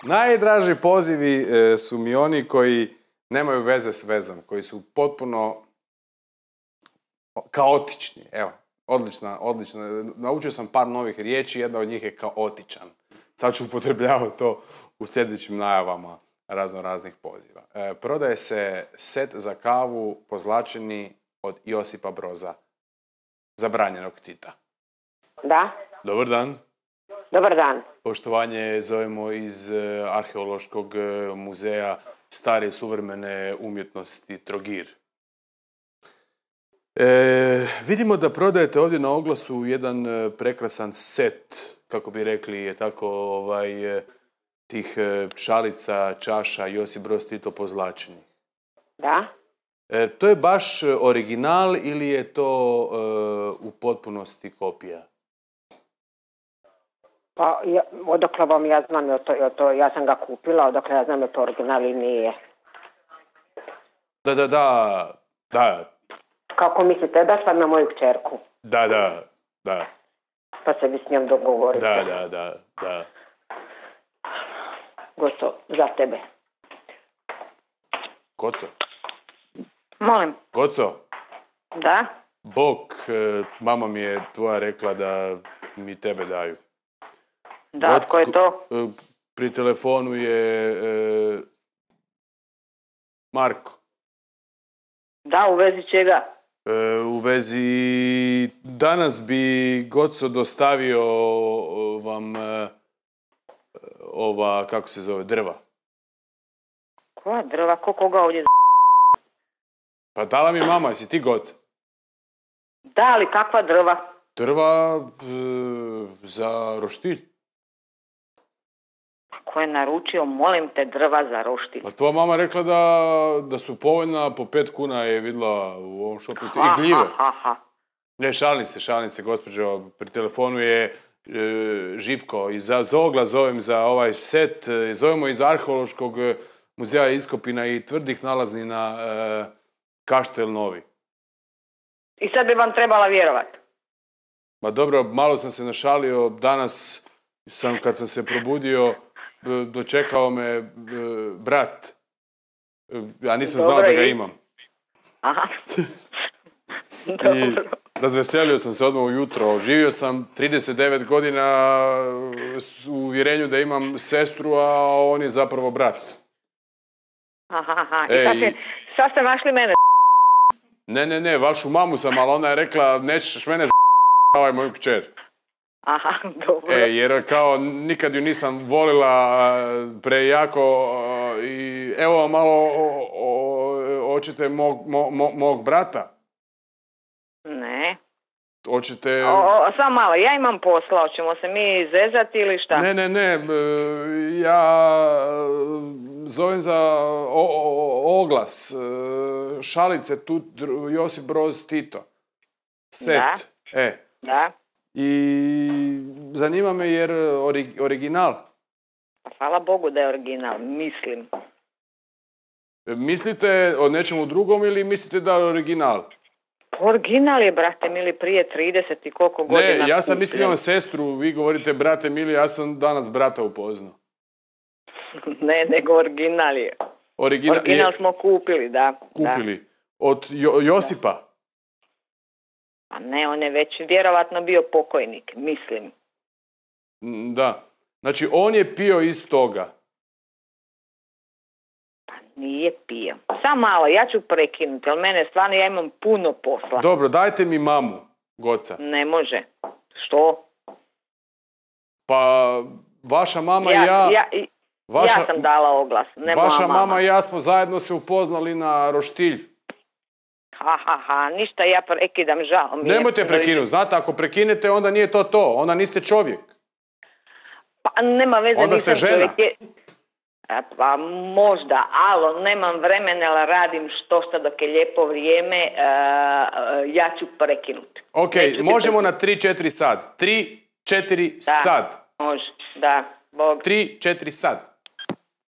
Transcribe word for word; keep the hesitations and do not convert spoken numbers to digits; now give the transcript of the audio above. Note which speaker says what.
Speaker 1: Najdraži pozivi e, su mi oni koji nemaju veze s vezom, koji su potpuno kaotični. Evo, odlična, odlična. Naučio sam par novih riječi, jedna od njih je kaotičan. Sad ću upotrebljavati to u sljedećim najavama razno raznih poziva. E, prodaje se set za kavu pozlačeni od Josipa Broza, zabranjenog Tita.
Speaker 2: Da.
Speaker 1: Dobar dan.
Speaker 2: Dobar dan.
Speaker 1: Poštovanje zovemo iz e, Arheološkog e, muzeja stare suvremene umjetnosti Trogir. E, vidimo da prodajete ovdje na oglasu jedan e, prekrasan set, kako bi rekli, je tako ovaj, e, tih e, šalica, čaša, Josip Broz Tito pozlačeni.
Speaker 2: Da.
Speaker 1: E, to je baš original ili je to e, u potpunosti kopija?
Speaker 2: Pa, ja, odakle vam ja znam, je to, je to, ja sam ga kupila, odakle ja znam je to original i nije.
Speaker 1: Da, da, da, da.
Speaker 2: Kako mislite, da sam na moju kćerku?
Speaker 1: Da, da, da.
Speaker 2: Pa se vi s njom dogovorite.
Speaker 1: Da, da, da, da.
Speaker 2: Gosto, za tebe.
Speaker 1: Goco?
Speaker 2: Molim.
Speaker 1: Goco?
Speaker 2: Da?
Speaker 1: Bog, e, mama mi je tvoja rekla da mi tebe daju.
Speaker 2: Da,
Speaker 1: Got,
Speaker 2: tko je to?
Speaker 1: e, pri telefonu je e, Marko.
Speaker 2: Da, u vezi čega?
Speaker 1: E, u vezi, danas bi Goco dostavio vam e, ova, kako se zove, drva.
Speaker 2: Koja drva? Ko koga ovdje z***?
Speaker 1: Pa dala mi mama, jesi ti Goca?
Speaker 2: Da, ali kakva drva?
Speaker 1: Drva e, za roštilj.
Speaker 2: Ko je naručio, molim te, drva za roštilj?
Speaker 1: Pa tvoja mama rekla da, da su povoljna, po pet kuna je vidjela u ovom šopu. I gljive.
Speaker 2: Ha, ha, ha.
Speaker 1: Ne, šalim se, šalim se, gospođo. Pri telefonu je e, Živko. I za, za oglas zovem za ovaj set. E, zovemo iz Arheološkog muzeja iskopina i tvrdih nalaznina e, Kaštel Novi.
Speaker 2: I sad bi vam trebala vjerovati.
Speaker 1: Ma dobro, malo sam se našalio. Danas sam, kad sam se probudio, dočekao me e, brat. Ja nisam
Speaker 2: Dobro,
Speaker 1: znao da ga
Speaker 2: i...
Speaker 1: imam.
Speaker 2: Aha.
Speaker 1: I razveselio sam se odmah ujutro. Živio sam trideset devet godina u uvjerenju da imam sestru, a on je zapravo brat.
Speaker 2: Aha, aha. I
Speaker 1: E,
Speaker 2: sad,
Speaker 1: i...
Speaker 2: se, sad ste našli mene.
Speaker 1: Ne, ne, ne, vašu mamu sam, ali ona je rekla nećeš mene z***avaj moju kćer.
Speaker 2: Aha, dobro.
Speaker 1: E, jer kao nikad ju nisam volila prejako i evo malo o, o, oćete mog, mo, mo, mog brata.
Speaker 2: Ne.
Speaker 1: Oćete...
Speaker 2: O, o, samo malo, ja imam posla, hoćemo se mi zezati ili šta?
Speaker 1: Ne, ne, ne, ja zovem za o, o, oglas, šalice tu Josip Broz Tito. Set.
Speaker 2: Da.
Speaker 1: E.
Speaker 2: Da.
Speaker 1: I zanima me jer ori, original.
Speaker 2: Hvala Bogu da je original, mislim.
Speaker 1: Mislite o nečemu drugom ili mislite da je original?
Speaker 2: Original je, brate mili, prije trideset i koliko godina.
Speaker 1: Ne, ja sam mislio na sestru, vi govorite brate mili, ja sam danas brata upoznao.
Speaker 2: Ne, nego original je.
Speaker 1: Original,
Speaker 2: original
Speaker 1: je,
Speaker 2: smo kupili, da.
Speaker 1: Kupili.
Speaker 2: Da.
Speaker 1: Od jo, Josipa?
Speaker 2: A ne, on je već vjerovatno bio pokojnik, mislim.
Speaker 1: Da. Znači, on je pio iz toga.
Speaker 2: Pa nije pio. Samo malo, ja ću prekinuti, ali mene stvarno, ja imam puno posla.
Speaker 1: Dobro, dajte mi mamu, Goca.
Speaker 2: Ne može. Što?
Speaker 1: Pa, vaša mama
Speaker 2: ja,
Speaker 1: i ja...
Speaker 2: Ja,
Speaker 1: vaša,
Speaker 2: ja sam dala oglas, ne
Speaker 1: vaša
Speaker 2: moja mama.
Speaker 1: mama i ja smo zajedno se upoznali na roštilj.
Speaker 2: Ha, ha, ha, ništa, ja prekidam, žao mi je.
Speaker 1: Nemojte prekinuti, znate, ako prekinete, onda nije to to, onda niste čovjek.
Speaker 2: Pa nema veze,
Speaker 1: onda
Speaker 2: nisam
Speaker 1: ste žena.
Speaker 2: čovjek. Je... Pa možda, alo, nemam vremena, ali radim što što dok je lijepo vrijeme, uh, ja ću prekinuti.
Speaker 1: Ok,
Speaker 2: Neću
Speaker 1: možemo
Speaker 2: ti...
Speaker 1: na tri četiri sad. tri četiri
Speaker 2: da,
Speaker 1: sad.
Speaker 2: Može, da, Bog.
Speaker 1: tri četiri sad.